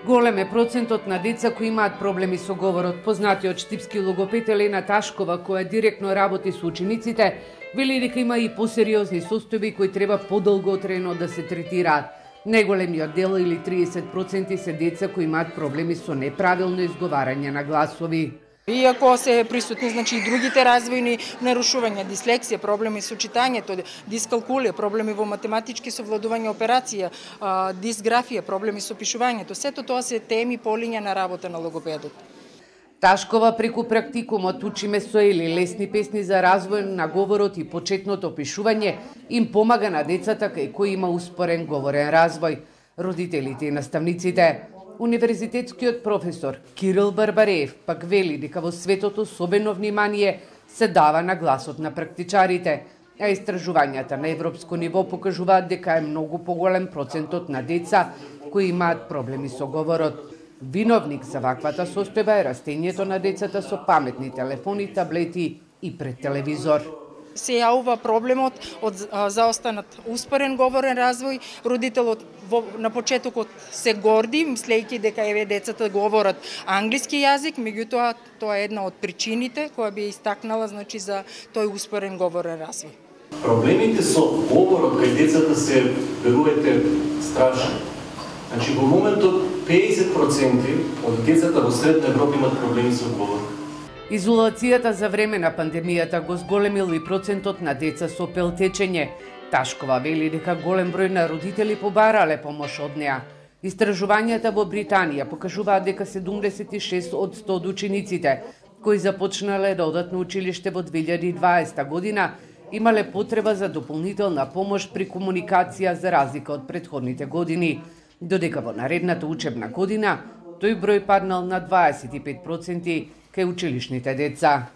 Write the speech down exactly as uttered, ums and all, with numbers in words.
Голем е процентот на деца кои имаат проблеми со говорот. Познатиот штипски логопед Елена Ташкова, која директно работи со учениците, вели дека има и посериозни состојби кои треба подолготрено да се третираат. Најголемиот дел или триесет проценти се деца кои имаат проблеми со неправилно изговарање на гласови. Иако се присутни значи и другите развојни нарушувања, дислексија, проблеми со читањето, дискалкулија, проблеми во математички совладување операција, дисграфија, проблеми со пишувањето, сето тоа се теми полиња на работа на логопедот. Ташкова преку практикумот Учиме со Ели, лесни песни за развој на говорот и почетното пишување, им помага на децата кај кои има успорен говорен развој, родителите и наставниците. Универзитетскиот професор Кирил Барбареев пак вели дека во светот особено внимание се дава на гласот на практичарите, а истражувањата на европско ниво покажуваат дека е многу поголем процентот на деца кои имаат проблеми со говорот. Виновник за ваквата состојба е растењето на децата со паметни телефони, таблети и пред телевизор. Се јавува проблемот од заостанат успорен говорен развој. Родителот во, на почетокот се горди, мислејќи дека еве децата говорат англиски јазик, меѓутоа тоа е една од причините која би истакнала значи за тој успорен говорен развој. Проблемите со говорот кај децата се, верувате, страшни. Значи во моментот педесет проценти од децата во Средна Европа имаат проблеми со говорот. Изолацијата за време на пандемијата го зголемил и процентот на деца со пелтечење. Ташкова вели дека голем број на родители побарале помош од неа. Истражувањата во Британија покажуваат дека седумдесет и шест од сто од учениците кои започнале да одат на училиште во две илјади и дваесета година имале потреба за дополнителна помош при комуникација за разлика од претходните години, додека во наредната учебна година тој број паднал на дваесет и пет проценти кај училишните деца.